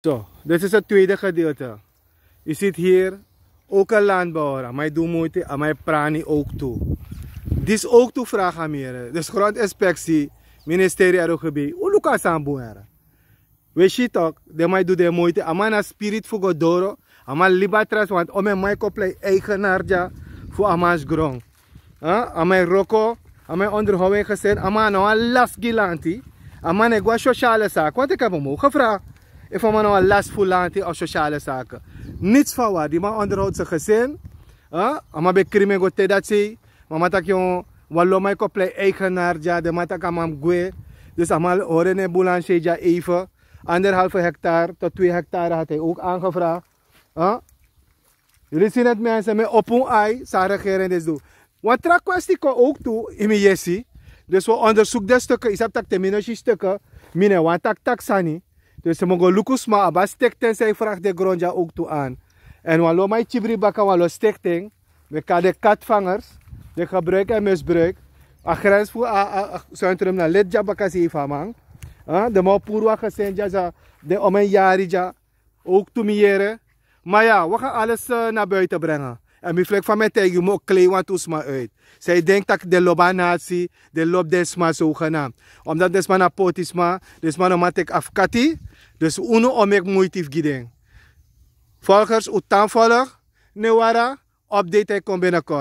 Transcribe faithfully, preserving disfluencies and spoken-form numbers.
So, dit is het tweede gedeelte. Je ziet hier ook een landbouwer, a man e du muiti, a man e prani ook tu. Dis ook tu vraag a mi yere. Dus grondinspectie, ministerie ero gebi, un luku a sani bun yere. We si tok, den man e du den muiti, a man na spirit fu go doro, a man libi a trasi, want omeni man e kon plei eigenaar dya fu a mansi gron. A man e wroko, a man e onderhoud en gesin, a man na wan lasi gi lanti. A man e go na sosiale sake, want ik heb hem ook gevraagd efu a man na wan lasi fu lanti of sosiale sake. Niets van waar, die man onderhoudt zijn gezin. A man ben krin en go te dati sei, ma a man taki wan lo man e kon plei eigenaar dya, den man taki a man mus gwe. Dus a man hori en na en boulangerie dya even. Anderhalve hectare tot twee hectare had hij ook aangevraagd. Jullie zien het, mensen, mi e opo un ai san a regering disi du. Wan tra kwesti kon ook tu ini mi yesi. Dus we onderzoek den stukken, yu sabi tak' te mi no si stukken, mi no e wani taki tak' sani. Dus mi go luku sma, a abi a stichting san e vraag den gron dya ook tu aan. Èn wan lo man e kibri baka wan lo stichting, we kan den katvangers, den gebruik en misbruik. A grens fu a, a, a centrum na leti dya baka sei fu a man. Den man o puru wan gesin dya, sa den omeni yari dya. Ook tu mi yere. Maar ja, we gaan alles eh, naar buiten brengen. En mi flek van mi taigi yu, mi o klei wantu sma uit. Zij denkt dat den lobi a nasi, den lobi den sma zogenaamd. Omdat den sma na poti sma, den sma no man teki afkati. Dus unu o meki muiti fu gi den. Volgers, un tan volg, ne wara, update e kon binnenkort.